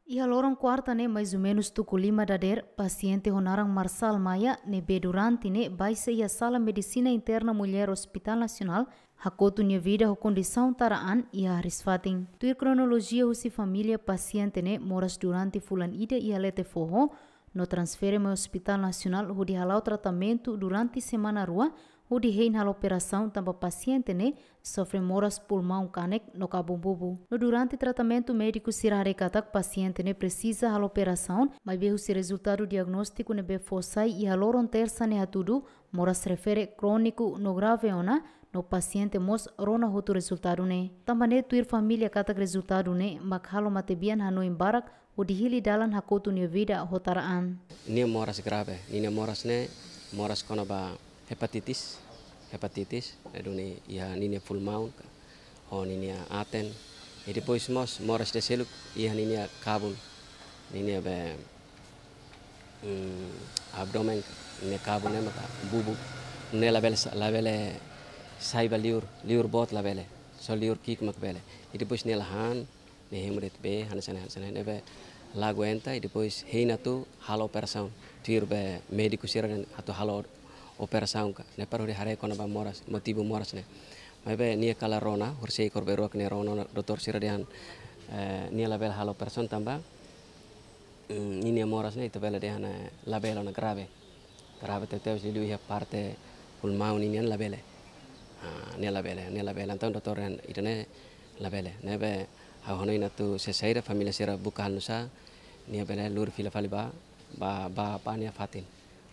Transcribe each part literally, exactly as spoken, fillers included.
Iha loron kuarta ne'e, mais ou menus tuku lima dadeer, pasiente ho naran Marçal Maia, ne'ebé durante ne'e baixa iha sala medisina interna mulher Hospital Nasionál, hakotu nia vida ho kondisaun tara an iha hariis-fatin. Tuir kronolojia husi família, pasiente ne'e moras durante fulan ida iha Letefoho, no transfere mai Hospital Nasionál hodi hala'o tratamentu durante semana rua, hodi hein halo operasaun tanba pasiente ne'e sofre moras pulmaun kanek no kabun bubu. No durante tratamentu, médiku sira haree katak pasiente ne'e presiza halo operasaun, maibé husi rezultadu diagnóstiku ne'ebé fó sai iha loron tersa ne'e hatudu, moras refere króniku no grave ona, no pasiente mós rona hotu rezultadu ne'e. Tanba ne'e tuir família katak rezultadu ne'e mak halo matebian hanoin barak hodi hili dalan hakotu nia vida ho tara an. Nia moras grave, ninia moras ne'e moras kona-ba hepatitis, hepatitis, ne'e duni iha ninia pulmaun ka, ho ninia aten. I depois mós moras ida seluk iha ninia kabun, ninia be, mm, abdomen ka, ninia kabun ne'e maka bubu. Ne'e labele sa-, labele sai ba liur, liur boot labele. Só liur ki'ik mak bele. I depois nia la han, nia hemu de'it bee, hanesan ne'e, hanesan ne'e, ne'ebé la aguenta, i depois hein atu halo operasaun. Tuir be médiku sira dehan atu halo operasaun ka. Ne'e para hodi haree kona-ba moras, motivu moras ne'e. Maibé nia kala rona, horisehik ho be ruak nia rona, doutór sira dehan, eh, nia labele halo operasaun tanba, mm, ninia moras ne'e ita bele dehan, eh, labele ona, grave. Grave tebetebes, liuliu iha parte pulmaun ninian labele. Ah, nia labele, nia labele. Entaun doutór dehan ida-ne'e labele. Ne'ebé ha'u hanoin atu se saida, família sira buka halo nu'usá, nia bele lori fila fali ba, ba, ba, ba nia fatin.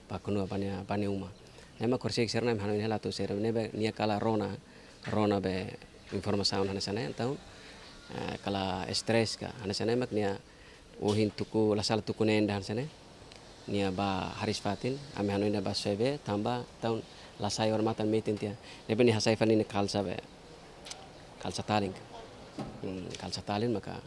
Ba konua, ba nia, ba nia uma. Ne'e mak horisehik sira-ne'e hanoin hela atu saida, ne'ebé nia kala rona, rona be informasaun hanesan ne'e, entaun, eh, kala stress ka, hanesan ne'e mak nia ohin tuku, la sala tuku neen ida hanesan ne'e. Nia ba hariis-fatin, ami hanoin nia ba soe bee, tanba entaun la sai odamatan metin tiha. Ne'ebé nia hasai fali nia kalsa be, kalsa talin. Hmm, kalsa talin maka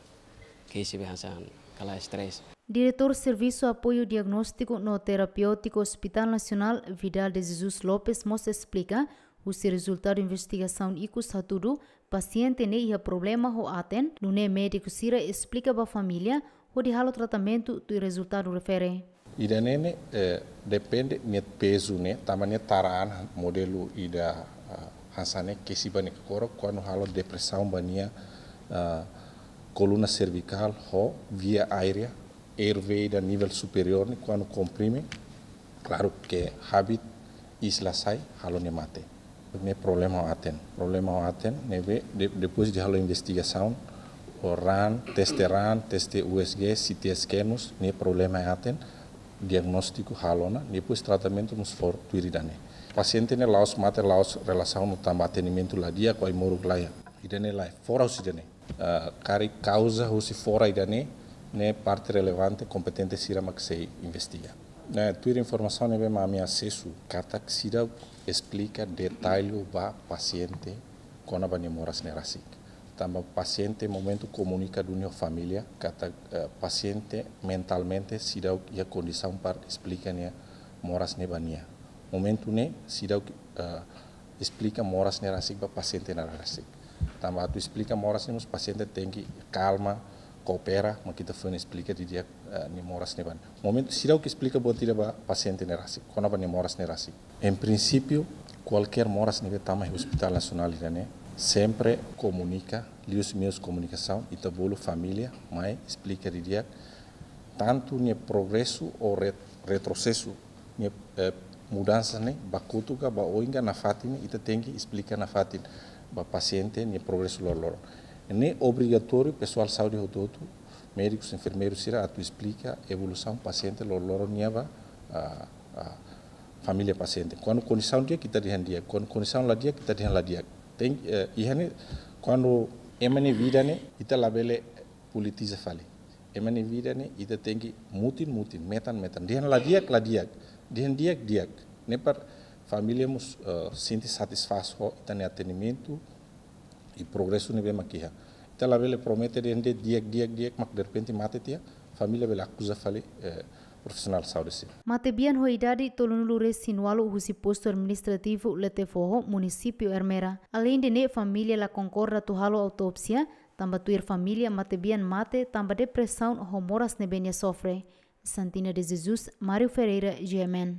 kesi be hanesan kala stress. Diretór Servisu Apoiu Diagnóstiku no Terapéutiku Hospital Nasionál, Vidal de Jesus Lopes, mós esplika, husi rezultadu investigasaun ikus hatudu, pasiente ne'e iha problema ho aten, nune'e médiku sira esplika ba família hodi halo tratamentu tuir rezultadu refere. Ida-ne'e ne'e, eh, depende nia pezu ne'e, tanba nia tara an modelu ida, ah, hanesan ne'e, kesi ba nia kokorak, kuandu halo depresaun ba nia, ah, koluna servikál ho via aérea, airway ida nivel superiór ne'e, kuandu komprime, klaru ke habit iis la sai, halo nia mate. Ne'e problema ho aten. Problema ho aten, ne'ebé de-, depois de halo investigasaun, ho ran, teste ran, teste U S G, C T scan mós, ne'e problema ho aten, diagnóstiku halo ona, depois tratamentu mós fó tuir ida-ne'e. Pasiente ne'e la'ós mate, la'ós relasaun no tanba atendimentu la di'ak, ai-moruk la iha. Ida-ne'e lae, fora husi ida-ne'e. Ah, karik kauza husi fora ida-ne'e, ne'e parte relevante, kompetente sira mak sei investiga. Ne'e, tuir informasaun ne'ebé mak ami asesu, katak seidauk esplika detallu ba pasiente kona-ba nia moras ne'e rasik. Tanba pasiente momentu komunika duni ho família, katak, eh, pasiente mentalmente seidauk iha kondisaun para esplika nia moras ne'e ba nia. Momentu ne'e seidauk, eh, esplika moras ne'e rasik ba pasiente ne'e rasik. Tanba atu esplika moras ne'e mós pasiente tenke kalma, koopera, mak ita foin esplika didi'ak, eh, nia moras ne'e ba nia. Momentu seidauk esplika buat ida ba pasiente ne'e rasik, kona-ba nia moras ne'e rasik. Em princípio, kualkér moras ne'ebé tama iha Hospital Nasionál ida-ne'e, sempre komunika, liuhusi meius komunikasaun, ita bolu família, mai esplika didi'ak, tantu nia progresu ou ret-, retrosesu, nia, eh, mudansa ne'e, ba kotuk ka, ba oin ka, nafatin ne'e, ita tenke esplika nafatin ba pasiente nia progresu loroloron. Ne'e obrigatóriu, pesoál saúde hotu-hotu, médikus, enfermeiru sira atu esplika evolusaun pasiente loroloron nian ba, ah, ah, família pasiente. Kuandu kondisaun di'ak, ita dehan di'ak. Kuandu kondisaun la di'ak, ita dehan la di'ak. Tem, eh, iha ne'e, kuandu ema nia vida ne'e, ita labele politiza fali. Ema nia vida ne'e, ita tenke mutin, mutin, metan, metan. Dehan la di'ak, la di'ak. Dehan di'ak, di'ak. Ne'e para família mós, eh, sente satisfás ho ita-nia atendimentu i progresu ne'ebé mak iha. Ita labele promete dehan di'ak, di'ak, di'ak, mak derrepente mate tiha, família bele akuza fali, eh, profisionál saúde sira. Matebian ho idade tolunulu-resin-ualu husi Postu Administrativu Letefoho, Munisípiu Ermera. Aleinde ne'e, família la konkorda atu halo autópsia, tanba tuir família matebian mate tanba depresaun ho moras ne'ebé nia sofre. Santina de Jesus, Mário Ferreira, G M N.